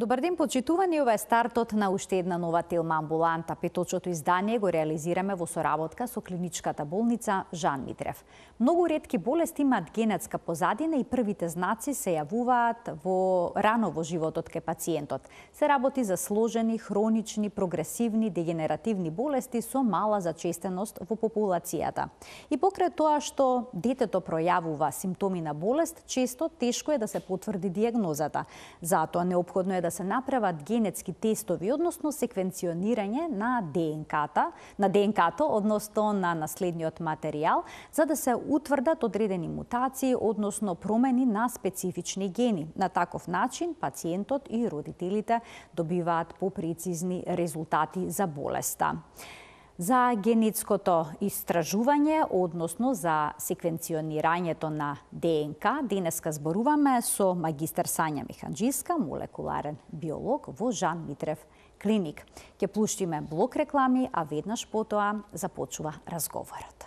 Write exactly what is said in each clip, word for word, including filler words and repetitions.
Добар ден, почитувани, ова е стартот на уште една нова Телма амбуланта. Петочото издание го реализираме во соработка со клиничката болница Жан Митрев. Многу ретки болести имаат генетска позадина и првите знаци се јавуваат во рано во животот кај пациентот. Се работи за сложени, хронични, прогресивни, дегенеративни болести со мала зачестеност во популацијата. И покрај тоа што детето пројавува симптоми на болест, често тешко е да се потврди дијагнозата. Затоа неопходно е да се направат генетски тестови, односно секвенционирање на ДНК-та, на ДНК-то, односно на наследниот материјал, за да се утврдат одредени мутации, односно промени на специфични гени. На таков начин пациентот и родителите добиваат попрецизни резултати за болеста. За генетското истражување, односно за секвенционирањето на ДНК, денеска зборуваме со магистар Сања Механџиска, молекуларен биолог во Жан Митрев клиник. Ќе пуштиме блок реклами, а веднаш потоа започува разговорот.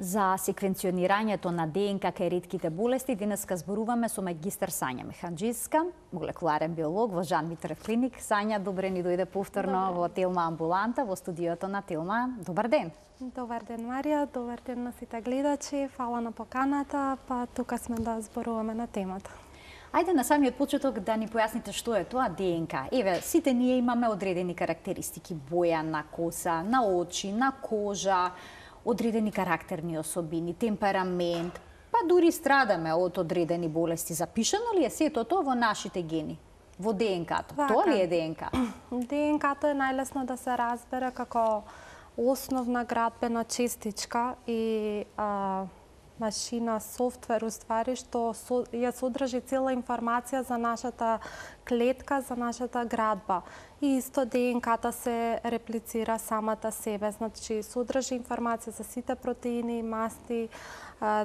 За секвенционирањето на ДНК кај ретките болести денеска зборуваме со магистар Сања Механџиска, молекуларен биолог во Жан Митрев клиник. Сања, добре ни дојде повторно во Телма амбуланта, во студиото на Телма. Добар ден. Добар ден, Марија, добар ден на сите гледачи, фала на поканата, па тука сме да зборуваме на темата. Ајде на самиот почеток да ни појасните што е тоа ДНК. Еве, сите ние имаме одредени карактеристики, боја на коса, на очи, на кожа, одредени карактерни особини, темперамент, па дури страдаме од одредени болести. Запишано ли е сето тоа во нашите гени, во ДНК-то? Тоа ли е ДНК? ДНК-то е најлесно да се разбере како основна градбена честичка и а, машина, софтвер, уствари, што со, ја содржи цела информација за нашата клетка, за нашата градба. И исто ДНК-та се реплицира самата себе, значи содржи информација за сите протеини, масти,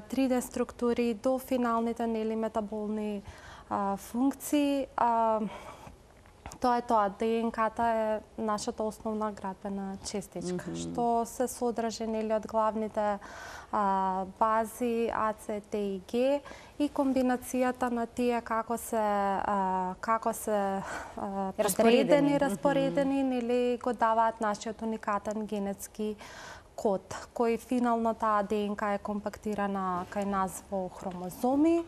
три Д структури до финалните нели метаболни а, функции. А, Тоа е тоа, ДНК-та е нашата основна градбена честичка, mm -hmm. што се содржи нели од главните а, бази А, С, Т и Г и комбинацијата на тие како се а, како се а, распоредени, распоредени mm -hmm. нели го даваат нашиот уникатен генетски код, кој финално таа ДНК е компактирана кај нас во хромозоми.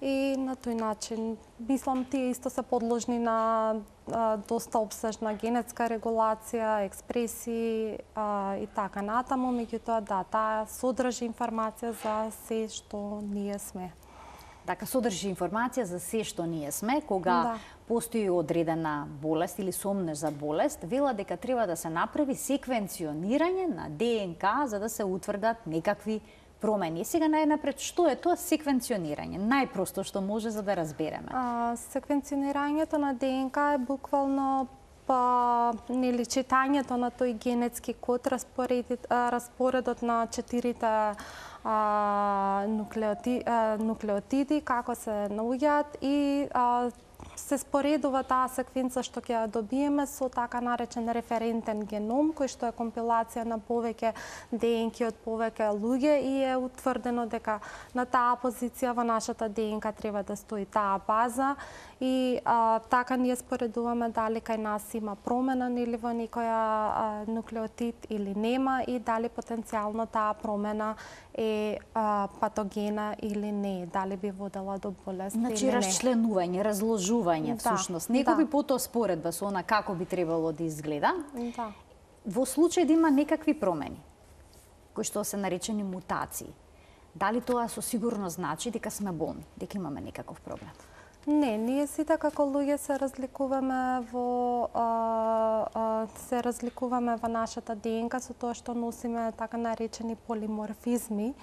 И на тој начин, мислам, тие исто се подложни на а, доста обсежна генетска регулација, експресии а, и така натаму, меѓутоа да, таа содржи информација за се што ние сме. Така, содржи информација за се што ние сме, кога да. Постои одредена болест или сомнеш за болест, вела дека треба да се направи секвенционирање на ДНК за да се утврдат некакви промени. Сега најнапред, што е тоа секвенционирање? Најпросто што може за да разбереме. А, секвенционирањето на ДНК е буквално па нели читањето на тој генетски код, распоредот, распоредот на четирите а, нуклеоти, а, нуклеотиди, како се наоѓаат и а, се споредува таа секвенца што ќе ја добиеме со така наречен референтен геном, кој што е компилација на повеќе ДНК од повеќе луѓе и е утврдено дека на таа позиција во нашата ДНК треба да стои таа база и а, така ние споредуваме дали кај нас има промена нели во некоја а, нуклеотид или нема и дали потенцијално таа промена е а, патогена или не, дали би водела до болест значи, или не. Значи расчленување, разложување да, всушност. Некој да. би потоа споредба со она како би требало да изгледа. Да. Во случај да има некакви промени, кои што се наречени мутации, дали тоа со сигурност значи дека сме болни, дека имаме некаков проблем? Не, ние сите како луѓе се разликуваме во а, а, се разликуваме во нашата ДНК со тоа што носиме така наречени полиморфизми.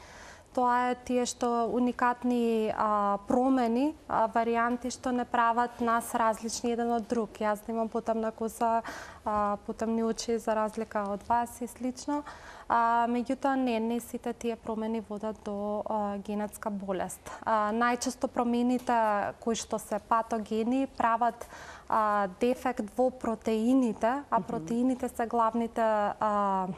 Тоа е тие што уникатни а, промени, а, варијанти што не прават нас различни еден од друг. Јас да имам потемна коса, а, потемни очи за разлика од вас и слично. А, меѓутоа не, не сите тие промени водат до а, генетска болест. А, најчесто промените кои што се патогени прават а, дефект во протеините, а протеините се главните а,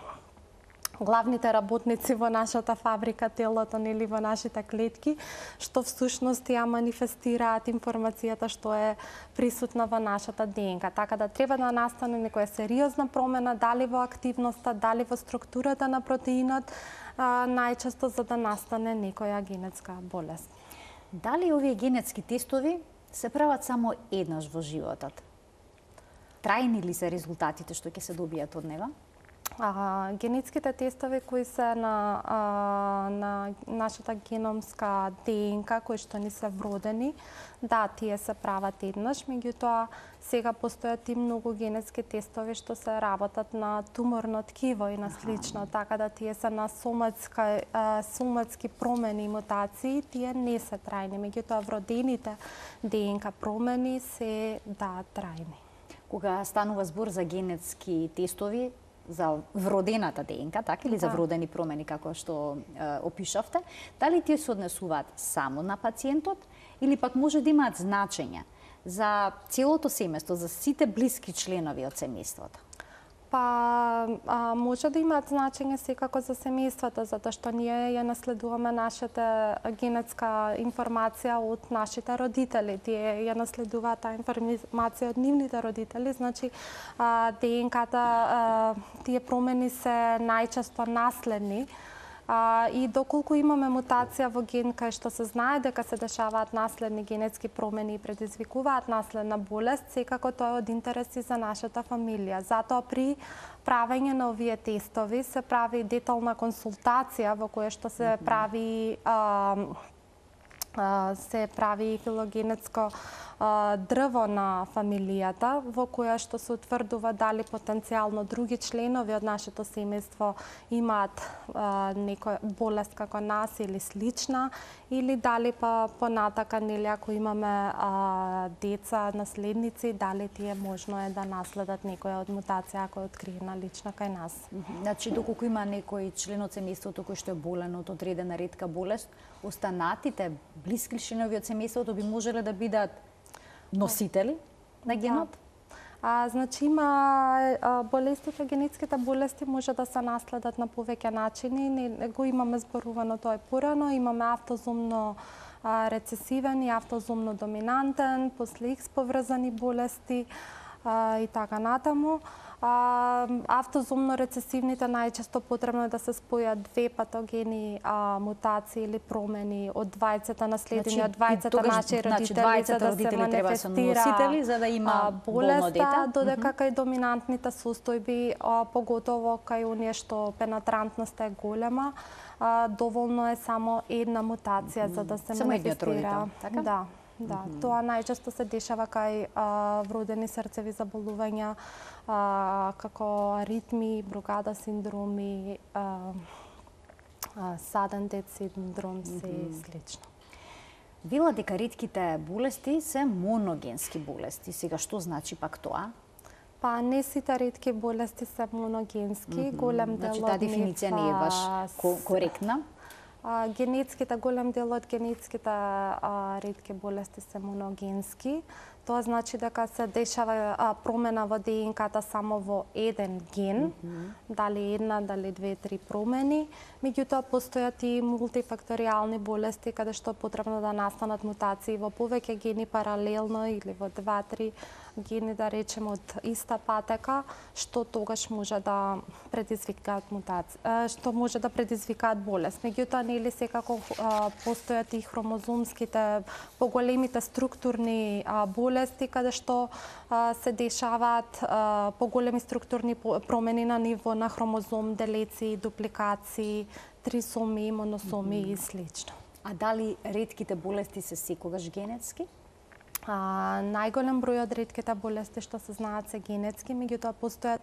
главните работници во нашата фабрика, телото, нели, во нашите клетки, што всушност ја манифестираат информацијата што е присутна во нашата ДНК. Така да треба да настане некоја сериозна промена, дали во активноста, дали во структурата на протеинот, а, најчесто за да настане некоја генетска болест. Дали овие генетски тестови се прават само еднаш во животот? Трајни ли се резултатите што ќе се добијат од него? А, генетските тестови кои се на, а, на нашата геномска ДНК, кои што ни се вродени, да, тие се прават еднаш, меѓутоа сега постојат и многу генетски тестови што се работат на туморно ткиво и на слично, така да тие се на соматска, а, соматски промени и мутации, тие не се трајни, меѓутоа вродените ДНК промени се, да, трајни. Кога станува збор за генетски тестови, за вродената ДНК, така, или за вродени промени, како што е, опишавте, дали тие се однесуваат само на пациентот, или пак може да имаат значење за целото семејство, за сите блиски членови од семејството? Па, а, може да имаат значење секако за семејството, затоа што ние ја наследуваме нашата генетска информација од нашите родители. Тие ја наследуваат таа информација од нивните родители, значи а, ДНК-та, тие промени се најчесто наследни. А, и доколку имаме мутација во ген кај што се знае дека се дешаваат наследни генетски промени и предизвикуваат наследна болест, секако тоа е од интереси за нашата фамилија. Затоа при правење на овие тестови се прави детална консултација во која што се прави а, а, се прави филогенетско а, дрво на фамилијата, во која што се утврдува дали потенцијално други членови од нашето семејство имаат а, некоја болест како нас или слична, или дали па понатака, нели, ако имаме а, деца, наследници, дали тие можно е да наследат некоја од мутација ако е откриена лична кај нас. Значи, доколку има некој член од семејството кој што е болен од одредена ретка болест, останатите блиски членови од семејството би можеле да бидат носители на генот? Да. А, значи има а, болестите, генетските болести може да се наследат на повеќе начини. Не, го имаме зборувано тоа е порано, имаме автозомно а, рецесивен и автозомно доминантен, после Икс поврзани болести а, и така натаму. А, автозомно рецесивните најчесто потребно е да се спојат две патогени а, мутации или промени од двајцата наследени, од двајцата наши родители, значи, за да се манифестира за да има болеста, дете, додека кај доминантните состојби, а, поготово кај оние што пенатрантноста е голема, а, доволно е само една мутација за да се само манифестира. Така? Да. Да, mm -hmm. Тоа најчесто се дешава кај а, вродени срцеви заболувања, а, како аритми, Брогада синдроми, а, а, саден дет синдром, се mm -hmm. слично. Вела дека ретките болести се моногенски болести. Сега што значи пак тоа? Па не сите ретки болести се моногенски, mm -hmm. голем дел значи, од таа дефиниција не е баш коректна. А, генетските, голем дел од генетските а, ретки болести се моногенски. Тоа значи дека се дешава а, промена во ДНК-та само во еден ген, mm -hmm. дали една, дали две, три промени. Меѓутоа постојат и мултифакторијални болести каде што е потребно да настанат мутации во повеќе гени паралелно или во два, три гени, да речеме, од иста патека, што тогаш може да предизвикаат мутација, што може да предизвикаат болест. Меѓутоа, нели секако а, постојат и хромозомските, поголемите структурни а, болести, каде што а, се дешаваат а, поголеми структурни промени на ниво на хромозом, делеци, дупликации, трисоми, моносоми mm -hmm. и слично. А дали ретките болести се секогаш генетски? А, најголем број од ретките болести што се знаат се генетски, меѓутоа постојат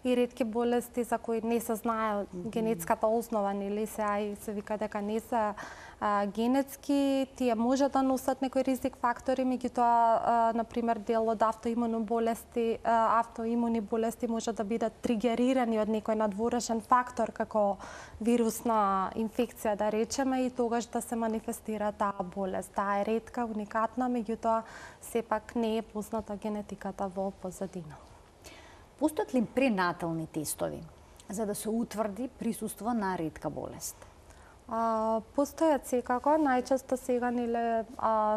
и ретки болести за кои не се знае mm -hmm. генетската основа, нели се ај се вика дека не се а, генетски, тие може да носат некои ризик фактори, меѓутоа на пример дел од автоимуни болести, а, автоимуни болести може да бидат тригерирани од некој надворешен фактор како вирусна инфекција, да речеме, и тогаш да се манифестира таа болест. Таа е ретка, уникатна, меѓутоа сепак не е позната генетиката во позадина. Постојат ли пренатални тестови за да се утврди присуство на ретка болест? А, постојат секако, најчесто сега неле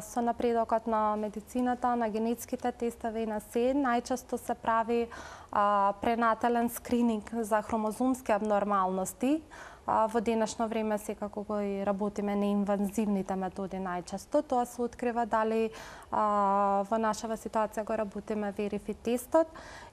со напредокот на медицината, на генетските тестови и на се, најчесто се прави а, пренатален скрининг за хромозомски абнормалности. А, во денешно време секако го и работиме неинвазивните методи најчесто. Тоа се открива дали а, во нашава ситуација го работиме верифи тестот.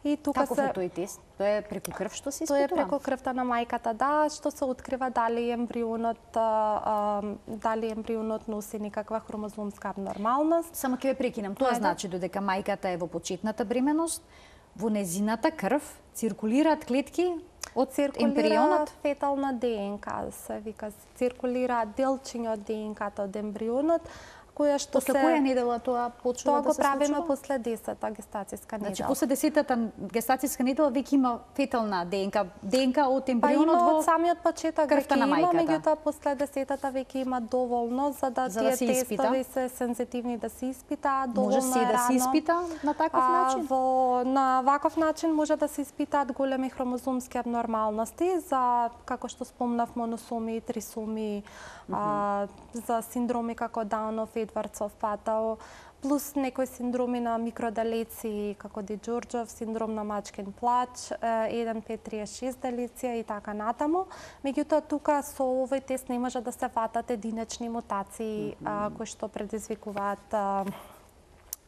И тука Каков се... е тој тест? Тоа е преку крв што се Тоа испитува? е преку крвта на мајката, да, што се открива дали ембрионот а, дали ембрионот носи некаква хромозомска абнормалност. Само ќе ве прекинам. Тоа Ајде. значи додека мајката е во почетната бременост, во незината крв циркулираат клетки од ембрионот? Фетална ДНК, се вика, циркулира делчиња од ДНК-та од ембрионот, која што После се... која недела тоа почнува Тоа да го се правиме случува? после десета гестацијска недела. Значи, после десетата гестацијска недела веќе има фетална ДНК, ДНК од Па ембрионот има во од самиот почеток крвта веќе на има, мајката. меѓутоа после десетата веќе има доволно за да За тие да се испита? тестови се сензитивни да се испитаат, доволно Може се е да се рано. испита на таков А, начин? Во, на ваков начин може да се испитаат големи хромозомски абнормалности за, како што спомнав, моносоми, трисоми, mm -hmm. а, за синдроми како Даунов, Едвардсов, Патау, плюс некои синдроми на микродалеци, како Ди Џорџов, синдром на мачкин плач, еден пет триесет шест делеција и така натаму. Меѓутоа, тука со овој тест не може да се фатат единечни мутации, mm -hmm. а, кои што предизвикуваат а,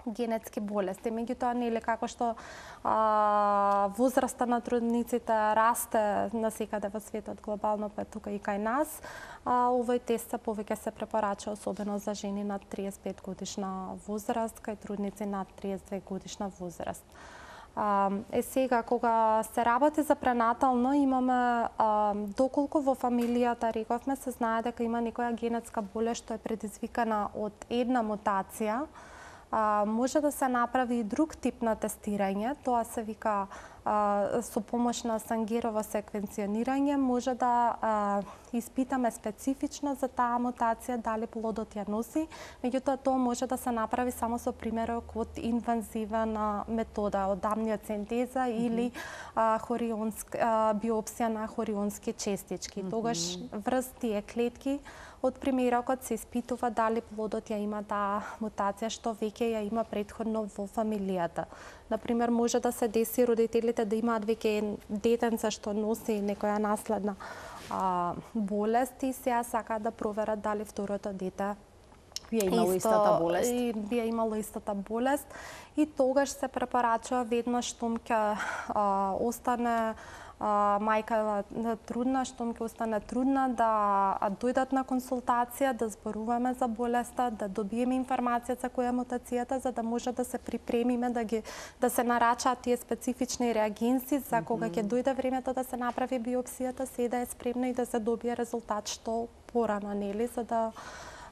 генетски болести. Меѓутоа, нели како што а, возраста на трудниците расте насекаде во светот глобално, па тука и кај нас, а, овој тест се повеќе се препорача особено за жени над триесет и пет годишна возраст, кај трудници над триесет и две годишна возраст. А, е сега, кога се работи за пренатално, имаме, а, доколку во фамилијата, рековме, се знае дека има некоја генетска болест што е предизвикана од една мутација, а, може да се направи и друг тип на тестирање, тоа се вика а, со помош на Сангерово секвенционирање, може да а, испитаме специфично за таа мутација дали плодот ја носи, меѓутоа тоа може да се направи само со примерок од инвазивна метода, од амниоцентеза mm -hmm. или а, хорионск, а, биопсија на хорионски честички. Mm -hmm. Тогаш врз тие клетки од примерокот се испитува дали плодот ја има таа мутација што веќе ја има претходно во фамилијата. Например, може да се деси родителите да имаат веќе детенце што носи некоја наследна а, болест и сега сакаат да проверат дали второто дете би ја имало исто, истата болест. И би ја имало истата болест и тогаш се препорачува веднаш штом ќе остане а, мајка трудна, штом ќе остане трудна, да дојдат на консултација, да зборуваме за болеста, да добиеме информација за која е мутацијата, за да може да се припремиме, да ги да се нарачаат тие специфични реагенси за кога ќе дојде времето да се направи биопсијата, се да е спремна и да се добие резултат што порано, нели, за да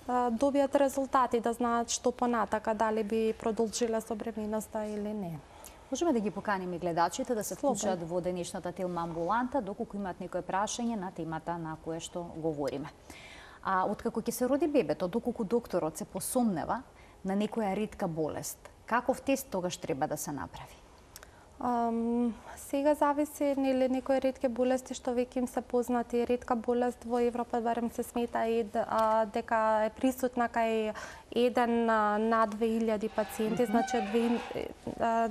добијат резултати, да знаат што понатака, дали би продолжиле со бременоста или не. Можеме да ги поканиме гледачите да се вклучат во денешната телма амбуланта, доколку имаат некое прашање на темата на која што говориме. А откако ќе се роди бебето, доколку докторот се посомнева на некоја ретка болест, каков тест тогаш треба да се направи? Um, сега зависи, нели, некои ретки болести што веќе им се познати. Ретка болест во Европа барем се смета и а, дека е присутна кај еден на две илјади пациенти, mm -hmm. значи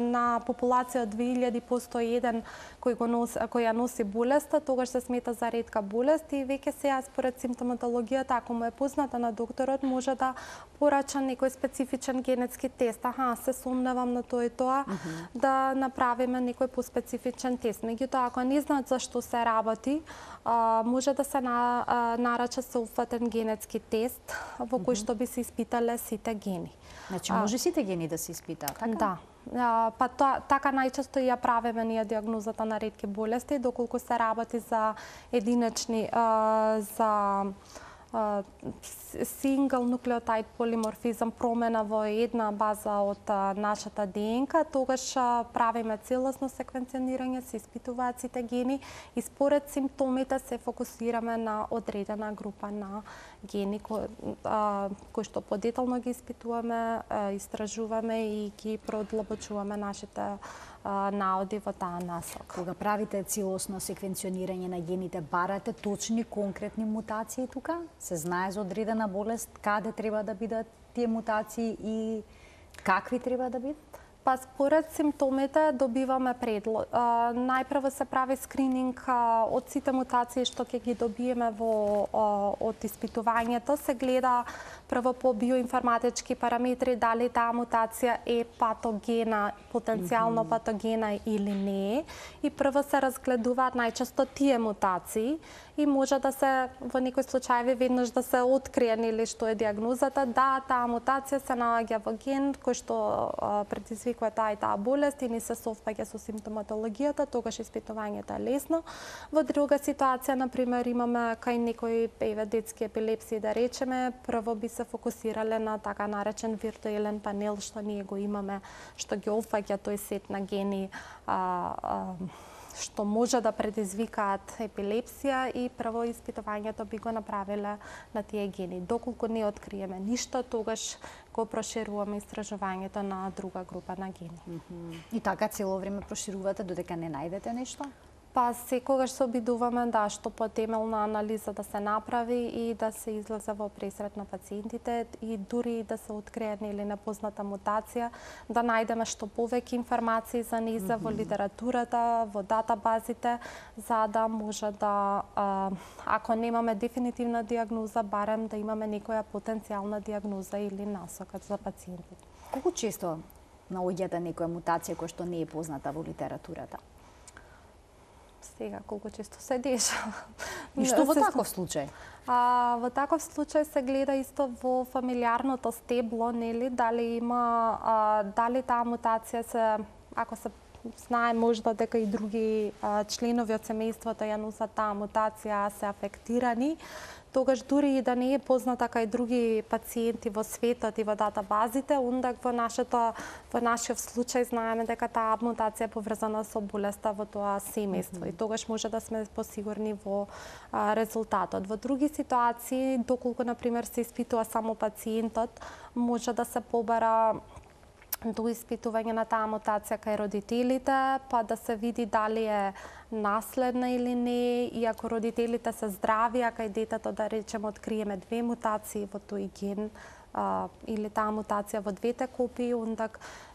на популација од две илјади постои еден кој го носи, кој ја носи болеста, тогаш се смета за ретка болест и веќе сега според симптоматологијата, ако му е позната на докторот, може да порача некој специфичен генетски тест. Аха, се сомневам на тоа и тоа, mm -hmm. да направиме некој поспецифичен тест. Меѓутоа, ако не знаат за што се работи, а, може да се на, а, нарача соопфатен генетски тест во кој што би се испитале сите гени. Значи, може сите гени да се испитаат, така? Да. А, па тоа, така најчесто ја правиме ние диагнозата на ретки болести, доколку се работи за единечни, а, за сингл нуклеотид полиморфизам, промена во една база од а, нашата ДНК, тогаш а, правиме целосно секвенционирање, се испитуваат сите гени и според симптомите се фокусираме на одредена група на гени кои, а, кои што подетално ги испитуваме, а, истражуваме и ги продлабочуваме нашите наоди во таа насока. Кога правите целосно секвенционирање на гените, барате точни конкретни мутации тука? Се знае за одредена болест каде треба да бидат тие мутации и какви треба да бидат? Па според симптомите добиваме предлог. Најпрво се прави скрининг од сите мутации што ќе ги добиеме во од испитувањето, се гледа прво по биоинформатички параметри дали таа мутација е патогена, потенцијално патогена или не, и прво се разгледуваат најчесто тие мутации и може да се во некои случаи веднаш да се открие нели што е диагнозата, да таа мутација се наоѓа во ген кој што предизвикува таа и таа болест и не се совпаѓа со симптоматологијата, тогаш испитувањето е лесно. Во друга ситуација, на пример, имаме кај некои еве детски епилепсии да речеме, прво би се фокусирале на така наречен виртуелен панел што ние го имаме, што ги опфаќа тој сет на гени а, а, што може да предизвикаат епилепсија и прво испитувањето би го направиле на тие гени. Доколку не откриеме ништо, тогаш го прошируваме истражувањето на друга група на гени. Mm-hmm. И така цело време проширувате додека не најдете нешто? Па секогаш се обидуваме да што потемелна анализа да се направи и да се излезе во пресрет на пациентите и дури да се открие нели непозната мутација, да најдеме што повеќе информации за нејза во литературата, во датабазите, за да може да, ако немаме дефинитивна диагноза, барем да имаме некоја потенцијална диагноза или насока за пациентите. Колку често наоѓате некоја мутација која што не е позната во литературата? Сега, колку често се дешава. И што во таков случај? А, во таков случај се гледа исто во фамилиарното стебло, нели, дали има, а, дали таа мутација се, ако се знае можда дека и други а, членови од семејството ја носат таа мутација, се афектирани, тогаш дури и да не е позната кај други пациенти во светот и во датабазите, онда во нашето во нашиот случај знаеме дека таа мутација е поврзана со болеста во тоа семејство mm -hmm. и тогаш може да сме посигурни во а, резултатот. Во други ситуации, доколку на пример се испитува само пациентот, може да се побара до испитување на таа мутација кај родителите, па да се види дали е наследна или не, и ако родителите се здрави, а кај детето да речеме откриеме две мутации во тој ген а, или таа мутација во двете копии, онда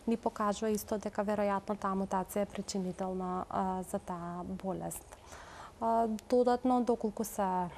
ни покажува исто дека веројатно таа мутација е причинителна а, за таа болест. А, додатно, доколку се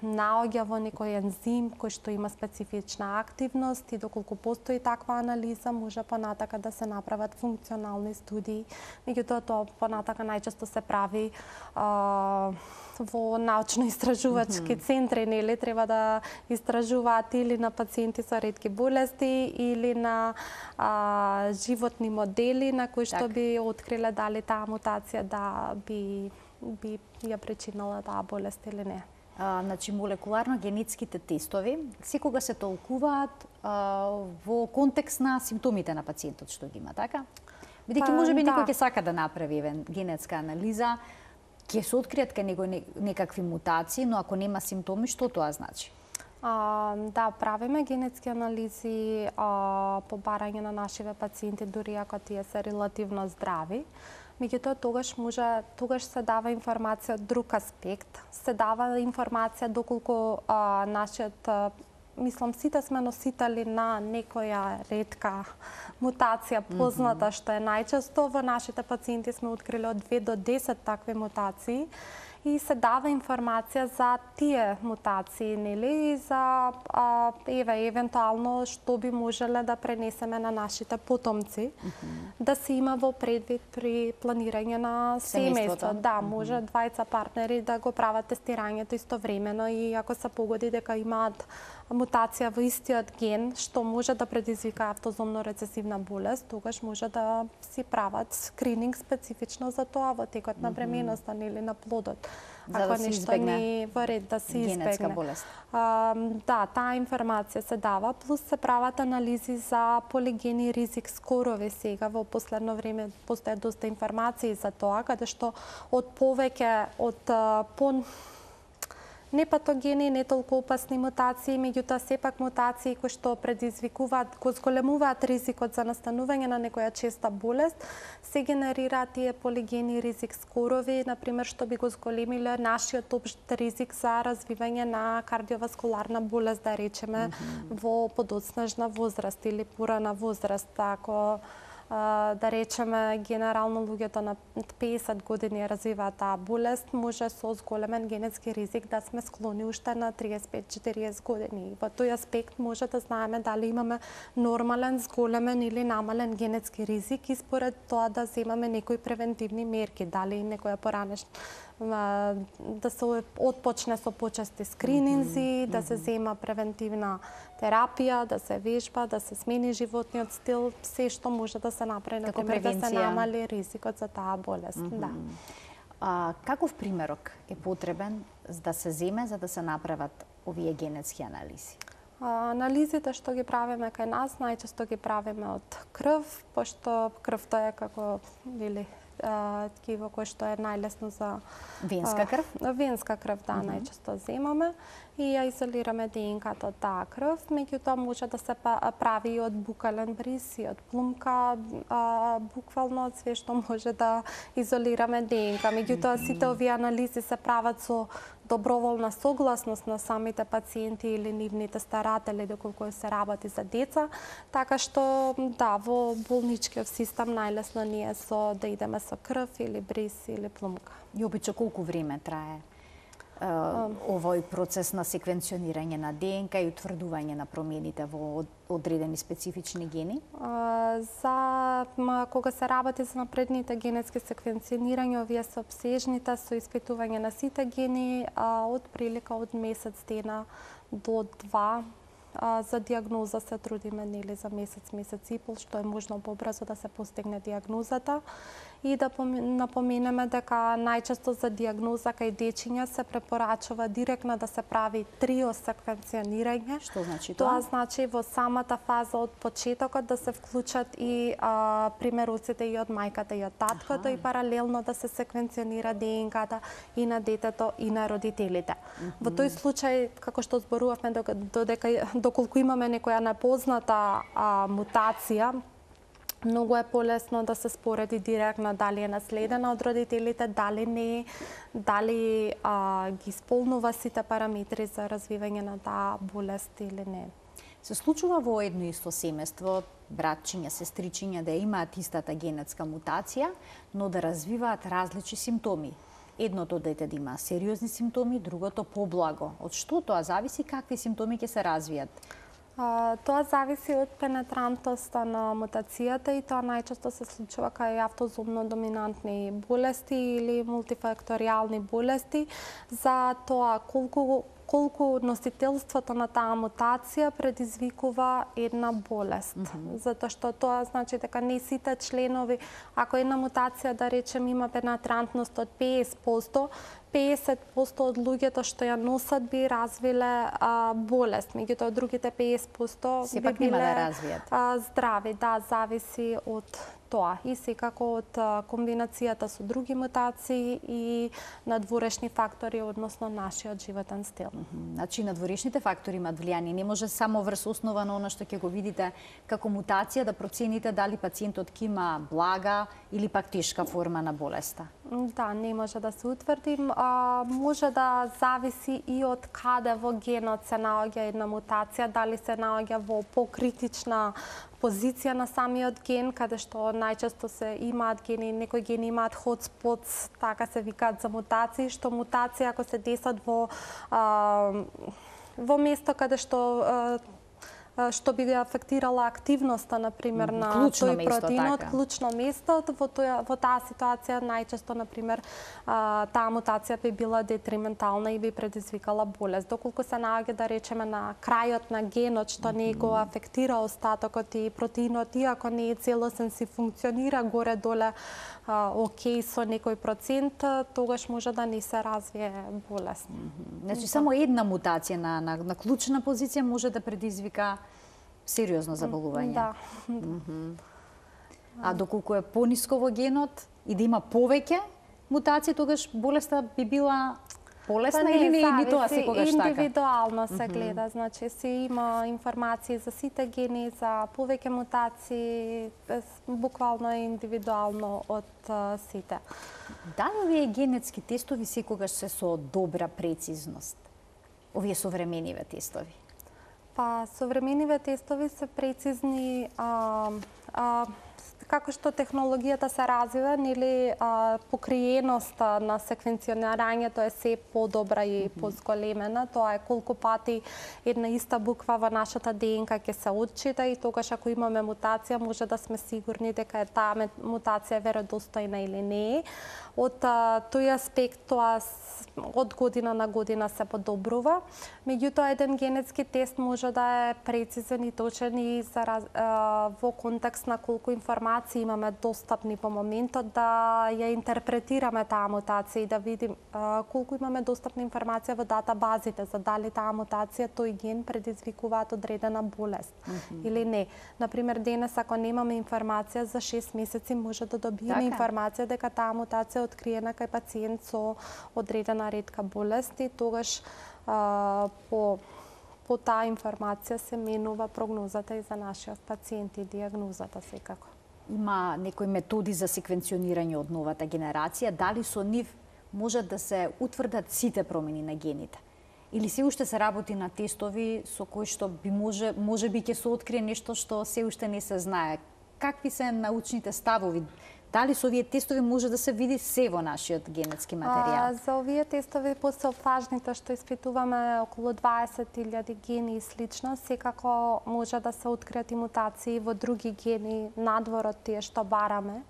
наоѓа во некој ензим кој што има специфична активност и доколку постои таква анализа, може понатака да се направат функционални студии. Меѓутоа, тоа понатака најчесто се прави а, во научно-истражувачки mm -hmm. центри, нели, треба да истражуваат или на пациенти со ретки болести или на а, животни модели на кои што так. би откриле дали таа мутација да би, би ја причинила таа болест или не. А, значи, молекуларно-генетските тестови секога се толкуваат а, во контекст на симптомите на пациентот што ги има, така? Бидејќи може би да. некој ќе сака да направи генетска анализа, ќе се откријат кај него некакви мутации, но ако нема симптоми, што тоа значи? А, да, правиме генетски анализи а, по барање на нашиве пациенти, дури ако тие се релативно здрави. Меѓутоа, тогаш може, тогаш се дава информација од друг аспект. Се дава информација доколку а, нашиот, а, мислам, сите сме носители на некоја ретка мутација позната, mm -hmm. што е најчесто. Во нашите пациенти сме открили од две до десет такви мутации. И се дава информација за тие мутации, нели, и за а, еве евентуално што би можеле да пренесеме на нашите потомци, mm -hmm. да се има во предвид при планирање на семејство. Да, може mm -hmm. двајца партнери да го прават тестирањето истовремено и ако се погоди дека имаат мутација во истиот ген што може да предизвика автозомно рецесивна болест, тогаш може да си прават скрининг специфично за тоа во текот на бременоста или на плодот. За ако да се нешто не во ред да се избегне. Болест. А, да, таа информација се дава, плюс се прават анализи за полигени ризик скорови сега. Во последно време постојат доста информации за тоа, каде што од повеќе, од по непатогени, не толку опасни мутации, меѓутоа сепак мутации кои што предизвикуваат, кои зголемуваат ризикот за настанување на некоја честа болест, се генерираат тие полигени ризик скорови, например, што би го зголемиле нашиот општ ризик за развивање на кардиоваскуларна болест, да речеме, mm-hmm. во подоцнежна возраст или порана возраст, ако да речеме, генерално луѓето на песет години развиваат таа болест, може со зголемен генетски ризик да сме склони уште на триесет и пет до четириесет години. Во тој аспект може да знаеме дали имаме нормален, зголемен или намален генетски ризик и според тоа да земаме некои превентивни мерки, дали некоја поранешна да се отпочне со почести скрининзи, mm-hmm. да се зема превентивна терапија, да се вежба, да се смени животниот стил, се што може да се направи, например, да се намали ризикот за таа болест. Mm-hmm. Да. А, каков примерок е потребен да се земе за да се направат овие генетски анализи? А, анализите што ги правиме кај нас, најчесто ги правиме од крв, пошто крвта е како или ткиво кое што е најлесно за венска крв. А, венска крв, да, mm-hmm. најчесто земаме и ја изолираме ди ен ка-то од таа крв, меѓутоа може да се прави и од букален бриз и од плумка, а, буквално од све што може да изолираме ди ен ка. Меѓутоа сите овие анализи се прават со доброволна согласност на самите пациенти или нивните старатели доколку се работи за деца, така што да, во болничкиот систем најлесно ни е со да идеме со крв или бриз или плумка. И обича колку време трае Uh, овој процес на секвенционирање на ди ен ка и утврдување на промените во одредени специфични гени? Uh, за ма, кога се работи за напредните генетски секвенционирање, овие се обсежните со испитување на сите гени, uh, од прилика од месец дена до два. Uh, за диагноза се трудиме нели за месец, месец и пол, што е можно побрзо да се постигне диагнозата. И да напоменеме дека најчесто за диагноза кај дечиња се препорачува директно да се прави трио секвенционирање. Што значи тоа? Тоа значи во самата фаза од почетокот да се вклучат и а, примероците и од мајката и од таткото, и паралелно да се секвенционира ди ен ка-та и на детето и на родителите. Mm-hmm. Во тој случај, како што зборувавме, додека доколку имаме некоја непозната а, мутација, многу е полесно да се спореди директно дали е наследена од родителите, дали не, дали а, ги исполнува сите параметри за развивање на таа болест или не. Се случува во едно исто семејство братчиња, сестричиња да имаат истата генетска мутација, но да развиваат различни симптоми. Едното дете да има сериозни симптоми, другото поблаго. Од што тоа зависи, какви симптоми ќе се развијат? Uh, тоа зависи од пенетрантноста на мутацијата и тоа најчесто се случува кај автозомно доминантни болести или мултифакторијални болести. За тоа колку колку носителството на таа мутација предизвикува една болест. Mm-hmm. Затоа што тоа значи дека не сите членови, ако една мутација да речем има пенетрантност од петдесет проценти, петдесет проценти од луѓето што ја носат би развиле а, болест, меѓутоа другите петдесет проценти сепак би биле нема да развијат. А, здрави, да, зависи од тоа и секако од комбинацијата со други мутации и надворешни фактори односно нашиот животен стил. Mm-hmm. Значи надворешните фактори имаат влијание, не може само врз основа на она што ќе го видите како мутација да процените дали пациентот ќе има блага или пак тешка форма на болеста. Да, не може да се утврди, а, може да зависи и од каде во генот се наоѓа една мутација, дали се наоѓа во покритична позиција на самиот ген, каде што најчесто се имаат гени, некои гени имаат hotspots, така се викаат за мутации, што мутација ако се десат во а, во место каде што а, што би ја афектирала активноста, например, на клучно тој место, протеинот, така. клучно место, во, тоја, во таа ситуација најчесто, например, а, таа мутација би била детриментална и би предизвикала болест. Доколку се наоѓа, да речеме, на крајот на генот, што не го афектира остатокот и протеинот, иако не е целосен, си функционира горе-доле окей со некој процент, тогаш може да не се развие болест. Значи, само една мутација на, на, на клучна позиција може да предизвика сериозно заболување. Да. Mm-hmm. А доколку е пониско во генот и да има повеќе мутација, тогаш болеста би била полесна па или не е ни тоа секогаш така? Индивидуално се гледа, значи си има информации за сите гени, за повеќе мутации, буквално е индивидуално од сите. Дали овие генетски тестови секогаш се со добра прецизност? Овие современиве тестови? Па, современиве тестови се прецизни, а, а, како што технологијата се развива, нели, покриеноста на секвенционирањето е се подобра и позголемена. Тоа е колку пати една иста буква во нашата ДНК ќе се отчита и тогаш ако имаме мутација може да сме сигурни дека е таа мутација веродостојна или не. Од тој аспект тоа од година на година се подобрува. Меѓутоа еден генетски тест може да е прецизен и точен и за, во контекст на колку информации имаме достапни по моментот да ја интерпретираме таа мутација и да видим а, колку имаме достапна информација во датабазите за дали таа мутација тој ген предизвикуваат одредена болест mm -hmm. или не. Например, денес ако немаме информација за шест месеци може да добиеме така информација дека таа мутација е откриена кај пациент со одредена ретка болест и тогаш а, по по таа информација се менува прогнозата и за нашиот пациент и диагнозата секако. Има некои методи за секвенционирање од новата генерација, дали со нив можат да се утврдат сите промени на гените? Или се уште се работи на тестови со кои што би може може би ќе се открие нешто што се уште не се знае? Какви се научните ставови? Дали со овие тестови може да се види се во нашиот генетски материјал? А, за овие тестови после фажните што испитуваме околу дваесет илјади гени и слично, секако може да се откријат и мутации во други гени надвор од тие што бараме.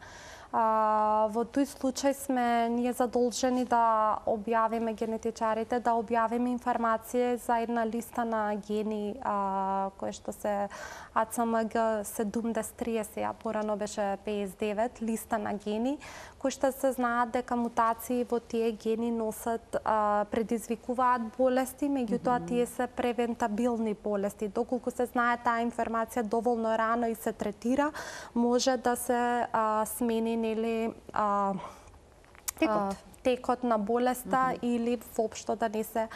А, во тој случај сме ние задолжени да објавиме генетичарите, да објавиме информација за една листа на гени а, кои што се А Ц М Г седумдесет триесет, а порано беше петдесет и девет, листа на гени, кои што се знаат дека мутации во тие гени носат, а, предизвикуваат болести, меѓутоа mm-hmm. тие се превентабилни болести. Доколку се знае таа информација доволно рано и се третира, може да се а, смени нели а, текот. текот на болеста mm -hmm. или воопшто да не се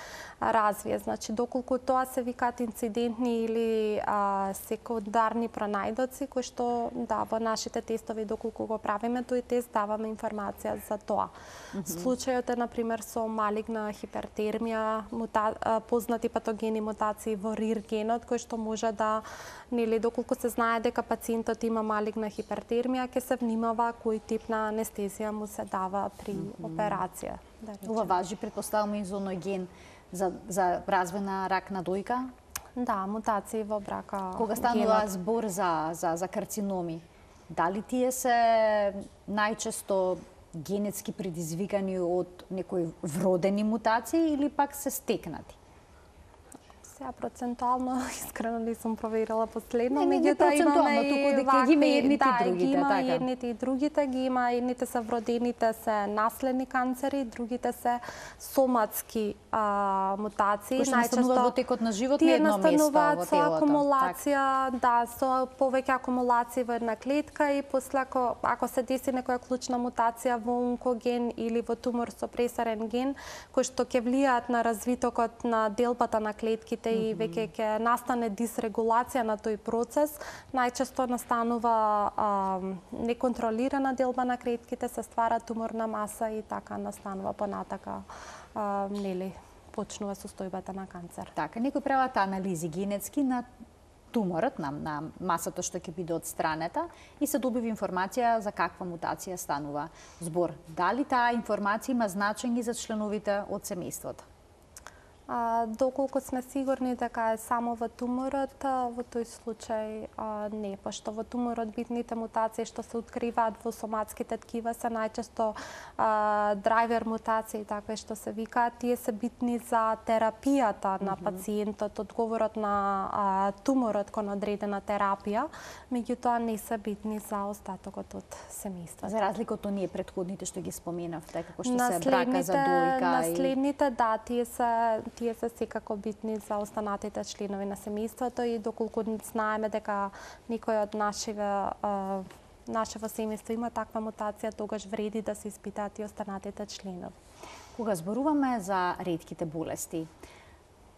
развие. Значи, доколку тоа се викаат инцидентни или а, секундарни пронајдоци, кои што да, во нашите тестови, доколку го правиме тој тест, даваме информација за тоа. Mm -hmm. Случајот е, например, со малигна хипертермија, мута... познати патогени мутации во РИР генот, кој што може да, нели, доколку се знае дека пациентот има малигна хипертермија, ќе се внимава кој тип на анестезија му се дава при mm -hmm. операција. Да, ова важи, предпоставувам, и за оној ген за, за развој на рак на дојка? Да, мутации во брака. Кога станува збор за, за, за карциноми, дали тие се најчесто генетски предизвикани од некои вродени мутации или пак се стекнати? Сега процентуално искрено не сум проверила последно, меѓутоа имаме туку дека ги има едните да, и другите, ги има така. едните и другите, ги има едните се вродените се наследни канцери, другите се соматски а, мутации. Кои што настануваат во текот на живот на едно место во телото. Тие настануваат со акумулација, да, со повеќе акумулации во една клетка и после ако, ако се деси некоја клучна мутација во онкоген или во тумор со пресарен ген, кои што ќе влијаат на развитокот на делбата на клетките и веќе ќе настане дисрегулација на тој процес, најчесто настанува а, неконтролирана делба на клетките, се ствара туморна маса и така настанува понатака, а, нели, почнува состојбата на канцер. Така, некои прават анализи генетски на туморот, на, на масата што ќе биде одстранета и се добива информација за каква мутација станува збор. Дали таа информација има значење за членовите од семејството? А, доколку сме сигурни дека е само во туморот, во тој случај а, не, пошто во туморот битните мутации што се откриваат во соматските ткива се најчесто а, драйвер мутации, такви што се викаат, тие се битни за терапијата на пациентот, одговорот на а, туморот кон одредена терапија, меѓутоа не се битни за остатокот од семејството. За разлика од оние претходните што ги споменавте, како што се брака за дојка и наследните, да, тие се тие се секако битни за останатите членови на семејството и доколку знаеме дека никој од нашиве нашево семејство има таква мутација, тогаш вреди да се испитаат и останатите членови. Кога зборуваме за ретките болести,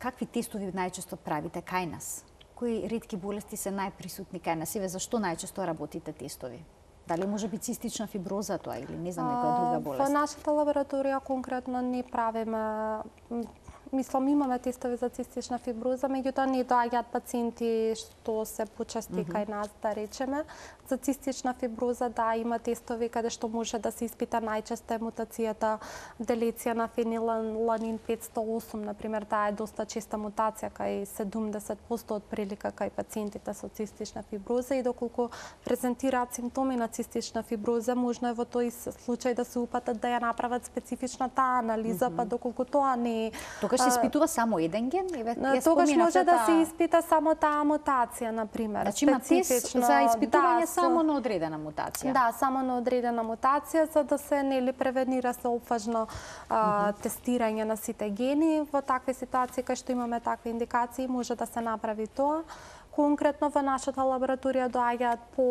какви тестови најчесто правите кај нас? Кои ретки болести се најприсутни кај нас? Еве зашто најчесто работите тестови? Дали може би цистична фиброза тоа или не знам некоја друга болест? Во нашата лабораторија конкретно не правиме, мислам имаме тестови за цистична фиброза, меѓутоа не доаѓаат пациенти што се почести mm -hmm. кај нас, да речеме. За цистична фиброза, да, има тестови каде што може да се испита најчесто мутацијата делеција на фенилаланин петстотини и осум, например, таа е доста честа мутација кај седумдесет проценти од прилика кај пациентите со цистична фиброза и доколку презентираат симптоми на цистична фиброза, можно е во тој случај да се упатат да ја направат специфична таа анализа, mm -hmm. па доколку тоа не е. Тогаш се испитува само еден ген? Тогаш може да се испита само таа мутација, например. Значи има тест за испитување само на одредена мутација? Да, само на одредена мутација, за да се нели превенира се опфажно а, тестирање на сите гени. Во такви ситуации кај што имаме такви индикации, може да се направи тоа. Конкретно во нашата лабораторија доаѓаат по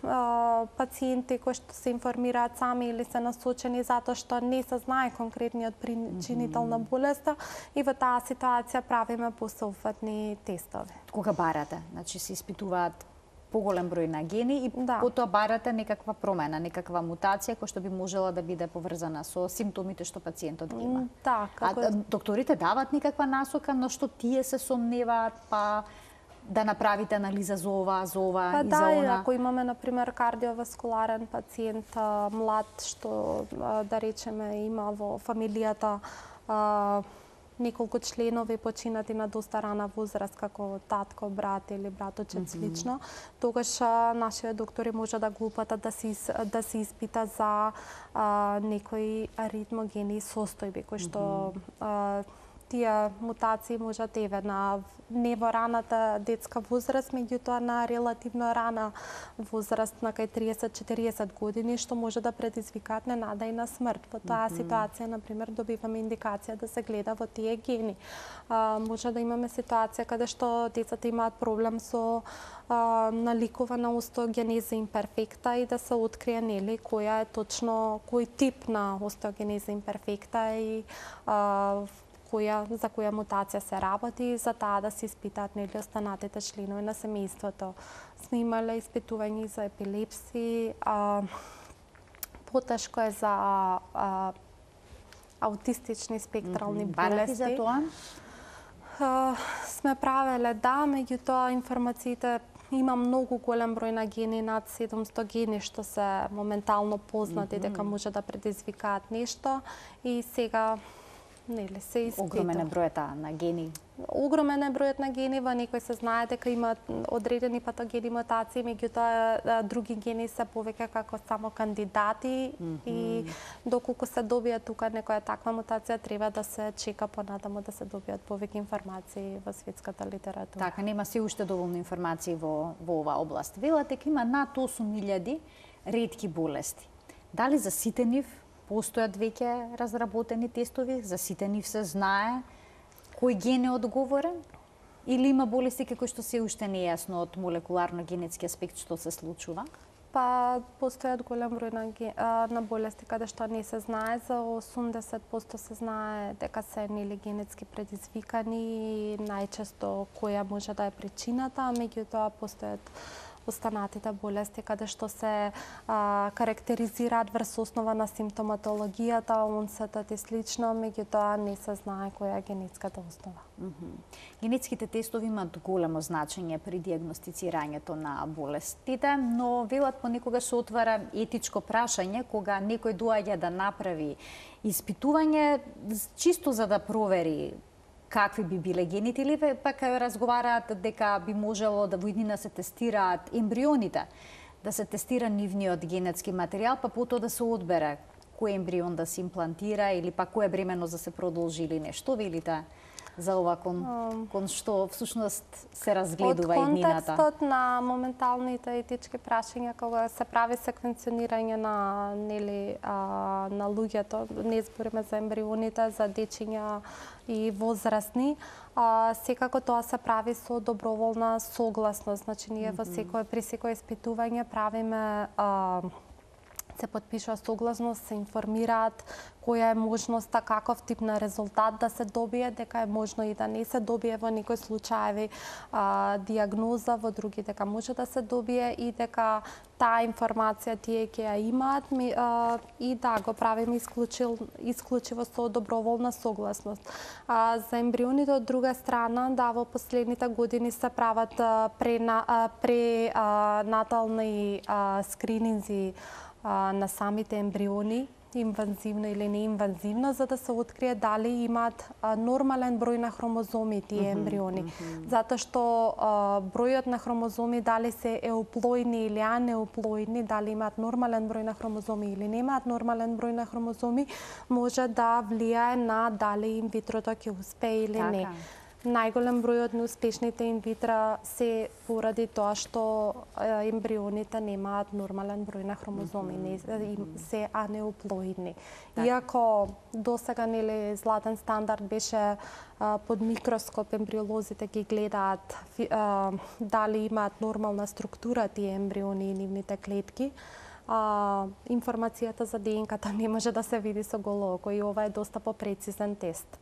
а, пациенти кои што се информираат сами или се насочени затоа што не се знае конкретниот причинител на болеста и во таа ситуација правиме посеопфатни тестови. Кога барате, значи се испитуваат поголем број на гени и да. Потоа барате некаква промена, некаква мутација која што би можела да биде поврзана со симптомите што пациентот ги има. Да, како... А докторите дават некаква насока на што тие се сомневаат, па да направите анализа за ова, за ова па и да, за она? Ако имаме, например, кардиоваскуларен пациент, млад, што, да речеме, има во фамилијата а, неколку членови починати на доста рана возраст, како татко, брат или браточет слично, mm -hmm. тогаш нашите доктори може да го упатат да се, да се испита за а, некои аритмогени состојби, кои што mm -hmm. а, тие мутации можат еве на не во раната детска возраст, меѓутоа на релативно рана возраст на кај триесет до четириесет години, што може да предизвикаат ненада и на смрт. Во таа mm -hmm. ситуација, например, добиваме индикација да се гледа во тие гени. А, може да имаме ситуација каде што децата имаат проблем со а, наликувана остеогенеза имперфекта и да се открие нели која е точно кој тип на остеогенеза имперфекта и а, која, за која мутација се работи, за таа да се испитаат нели останатите членови на семејството. Снимале испитувања за епилепси, а, потешко е за а, аутистични спектрални mm-hmm. болести. за тоа? А, сме правеле, да, меѓутоа информациите има многу голем број на гени, над седумсто гени што се моментално познати mm -hmm. дека може да предизвикаат нешто и сега нели се испита. Огромен е бројот на гени. Огромен е бројот на гени, во некои се знае дека има одредени патогени мутации, меѓутоа други гени се повеќе како само кандидати mm -hmm. и доколку се добија тука некоја таква мутација, треба да се чека понатаму да се добијат повеќе информации во светската литература. Така, нема се уште доволно информации во, во оваа област. Велате дека има над осум илјади ретки болести. Дали за сите нив постојат веќе разработени тестови, за сите нив се знае кој ген е одговорен? Или има болести кои што се уште не е јасно од молекуларно-генетски аспект што се случува? Па постојат голем број на, на болести каде што не се знае, за осумдесет проценти се знае дека се нели генетски предизвикани и најчесто која може да е причината, меѓутоа постојат останатите болести каде што се а, карактеризираат врз основа на симптоматологијата, онсетот и слично, меѓутоа не се знае која е генетската основа. Mm -hmm. Генетските тестови имаат големо значење при дијагностицирањето на болестите, но велат понекогаш се отвара етичко прашање кога некој доаѓа да направи испитување чисто за да провери какви би биле гените, или пак разговараат дека би можело да во иднина се тестираат ембрионите, да се тестира нивниот генетски материјал, па потоа да се одбере кој ембрион да се имплантира или па која бременост да се продолжи или нешто, велите за ова кон, кон што всушност се разгледува иднината? Од контекстот на моменталните етички прашања кога се прави секвенционирање на нели а, на луѓето, не збориме за ембрионите, за дечиња и возрастни, а, секако тоа се прави со доброволна согласност. Значи ние во секој при секое испитување правиме а, се подпишува согласност, се информираат која е можноста, каков тип на резултат да се добие, дека е можно и да не се добие во некои случаеви а, диагноза, во други дека може да се добие и дека таа информација тие ќе ја имаат ми, а, и да го правиме исклучил, исклучиво со доброволна согласност. А, за ембрионите од друга страна, да, во последните години се прават пренатални скрининзи а, на самите ембриони, инвазивно или неинвазивно, за да се открие дали имаат а, нормален број на хромозоми тие ембриони. Mm-hmm. Затоа што а, бројот на хромозоми дали се еуплоидни или анеуплоидни, дали имаат нормален број на хромозоми или немаат нормален број на хромозоми, може да влијае на дали инвитрото ќе успее или така не. Најголем број од неуспешните инвитра се поради тоа што ембрионите немаат нормален број на хромозоми, не се анеуплоидни. Иако досега нели златен стандард беше а, под микроскоп ембриолозите ги гледаат а, дали имаат нормална структура тие ембриони и нивните клетки, а, информацијата за ДНК-та не може да се види со голо око и ова е доста попрецизен тест.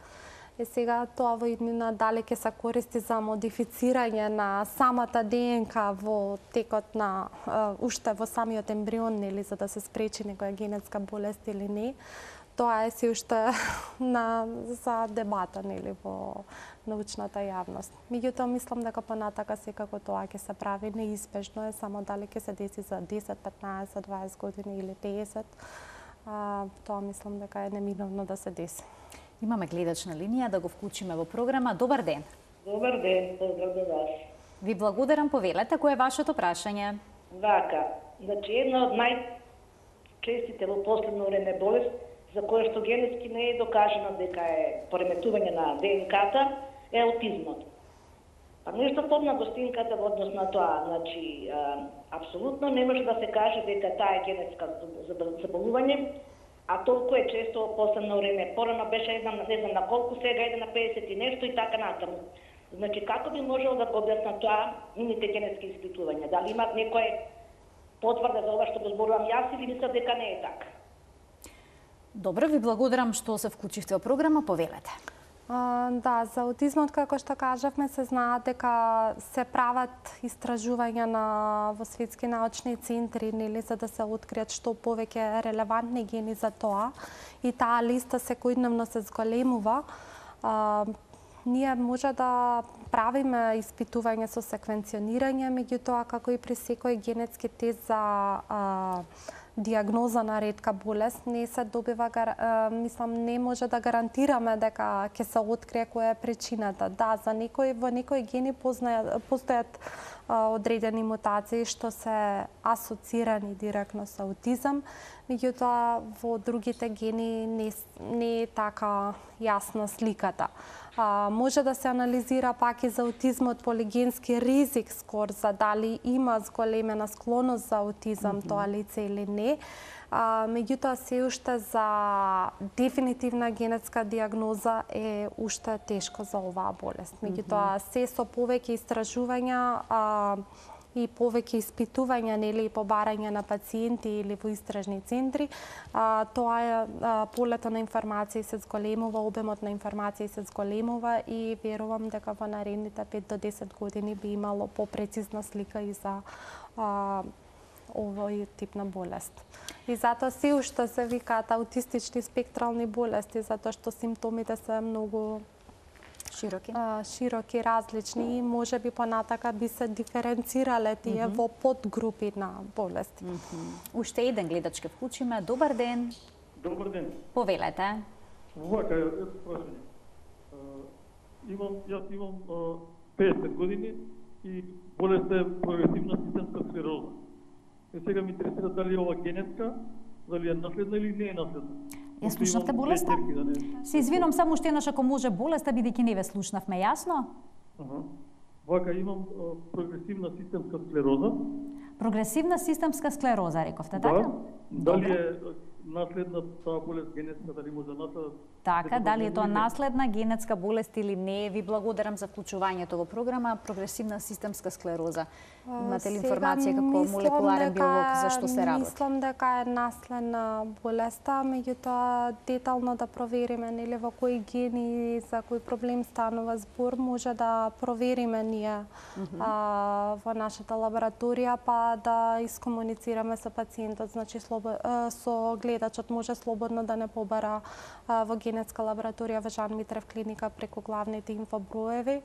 Е сега тоа во иднина дали ќе се користи за модифицирање на самата ДНК во текот на uh, уште во самиот ембрион, нели, за да се спречи некоја генетска болест или не. Тоа е си уште на за дебата, нели, во научната јавност. Меѓутоа мислам дека понатака секако тоа ќе се прави, неизбежно е, само дали ќе се деси за десет, петнаесет, дваесет години или педесет. А, тоа мислам дека е неминовно да се деси. Имаме гледач на линија, да го вклучиме во програма. Добар ден. Добар ден, поздрав до вас. Ви благодарам, повелете, кој е вашето прашање? Вака, значи една од најчестите во последно време болест, за која што генетски не е докажано дека е пореметување на ДНК-та, е аутизмот. Па нешто помна гостинката во однос на тоа, значи, а, апсолутно не може да се каже дека таа е генетска заболување, а толку е често во последно време. Порано беше една, не знам на колку, сега иде на педесет и нешто и така натаму. Значи, како би можел да го објаснат тоа нивните генетски испитувања? Дали имат некој потврда за ова што го зборувам јас или мислам дека не е така? Добро, ви благодарам што се вклучивте во програма, повелете. Uh, да, за аутизмот, како што кажавме, се знаат дека се прават истражувања на во светски научни центри, нели, за да се откријат што повеќе релевантни гени за тоа. И таа листа секојдневно се зголемува. Uh, ние може да правиме испитување со секвенционирање, меѓутоа како и при секој генетски тест за uh, диагноза на ретка болест не се добива, мислам, не може да гарантираме дека ќе се открие која е причината. Да, за некои во некои гени познајат, постојат одредени мутации што се асоцирани директно со аутизам, меѓутоа во другите гени не, не е така јасна сликата. А, може да се анализира пак и за аутизмот полигенски ризик скор за дали има зголемена склоност за аутизам mm -hmm. тоа лице или не. А, меѓутоа се уште за дефинитивна генетска диагноза е уште тешко за оваа болест. Меѓутоа се со повеќе истражувања а, и повеќе испитувања, нели, и побарање на пациенти или во истражни центри, а, тоа е а, полето на информации се зголемува, обемот на информации се зголемува и верувам дека во наредните пет до десет години би имало попрецизна слика и за а, овој тип на болест. И затоа се уште се викаат аутистични спектрални болести, затоа што симптомите се многу широки, а, широки, различни и може би понатака би се диференцирале тие mm -hmm. во подгрупи на болести. Mm -hmm. Уште еден гледач ке вклучиме. Добар ден. Добар ден. Повелете. Вака, ето прашање. Имам, јас имам педесет години и болест е прогресивна системска склероза. И сега ми интересира дали е ова генетска, дали е наследна или не е наследна. Ја слушнавте болеста? Се извинувам, само уште еднаш ако може болеста, бидејќи не ве слушнавме, јасно? Аха. Вака имам а, прогресивна системска склероза. Прогресивна системска склероза, рековте, да. така? Дали е наследна таа болест генетска, дали може да наследат Така, дали е тоа наследна генетска болест или не? Ви благодарам за вклучувањето во програма Прогресивна системска склероза. Имате ли информација како молекуларен биолог за што се работи? Мислам дека е наследна болеста, меѓутоа детално да провериме нели во кои гени за кој проблем станува збор, може да провериме ние mm -hmm. а, во нашата лабораторија, па да искомуницираме со пациентот, значи слобо, а, со гледачот може слободно да не побара а, во генетска лабораторија во Жан Митрев клиника преку главните инфоброеви,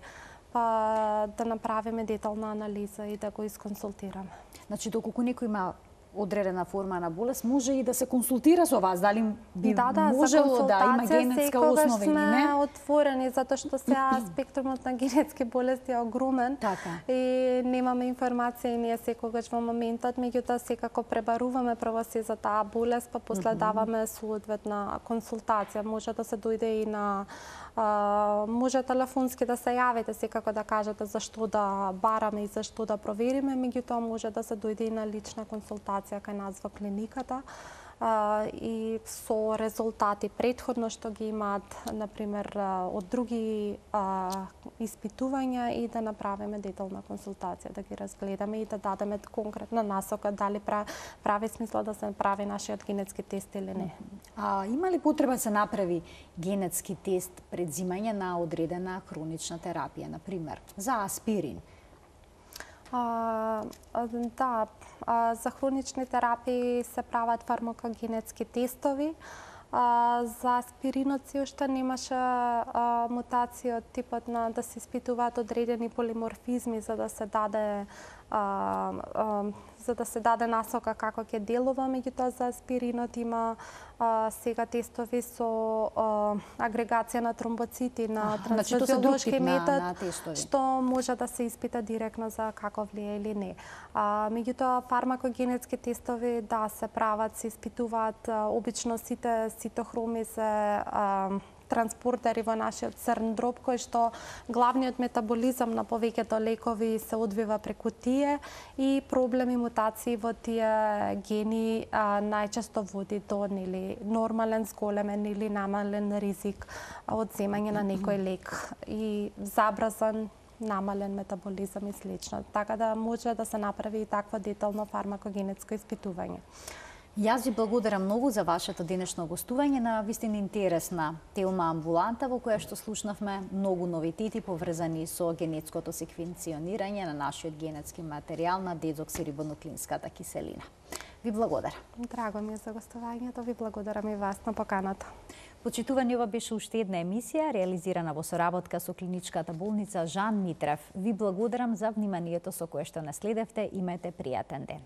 па да направиме детална анализа и да го исконсултираме. Значи, доколку некој има одредена форма на болест, може и да се консултира со вас, дали би да, да, можело да има генетска основа или не? Сме отворени, затоа што сега спектрумот на генетски болести е огромен така. И немаме информација и ние секогаш во моментот, меѓутоа секако пребаруваме прво се за таа болест, па после даваме соодветна консултација. Може да се дојде и на Uh, може телефонски да се јавите, секако да кажете зашто да бараме и зашто да провериме, меѓутоа може да се дојде и на лична консултација кај нас во клиниката uh, и со резултати предходно што ги имаат, например, uh, од други uh, испитувања и да направиме детална консултација, да ги разгледаме и да дадеме конкретна насока дали прави смисла да се прави нашиот генетски тест или не. А има ли потреба да се направи генетски тест пред земање на одредена хронична терапија, например, за аспирин? А, да, а, за хронични терапии се прават фармакогенетски тестови. А, за аспиринот се уште немаше а, мутација од типот на да се испитуваат одредени полиморфизми за да се даде а, а, за да се даде насока како ќе делува, меѓутоа за аспиринот има а, сега тестови со а, агрегација на тромбоцити на трансфузиолошки метод, на, на што може да се испита директно за како влие или не. А, меѓутоа фармакогенетски тестови да се прават, се испитуваат а, обично сите цитохроми се а, транспортери во нашиот црн дроб, кој што главниот метаболизам на повеќето лекови се одвива преку тие и проблеми, мутации во тие гени а, најчесто води до нели нормален, зголемен или намален ризик од земање на некој лек и забрзан намален метаболизам и слично. Така да може да се направи и такво детално фармакогенетско испитување. Јас ви благодарам многу за вашето денешно гостување на вистина интересна тема амбуланта во која што слушнавме многу новитети поврзани со генетското секвенционирање на нашиот генетски материјал на дезоксирибонуклеинската киселина. Ви благодарам. Драго ми е за гостувањето, ви благодарам и вас на поканата. Почитувани, ова беше уште една емисија реализирана во соработка со клиничката болница Жан Митрев. Ви благодарам за вниманието со кое што наследевте. Имајте пријатен ден.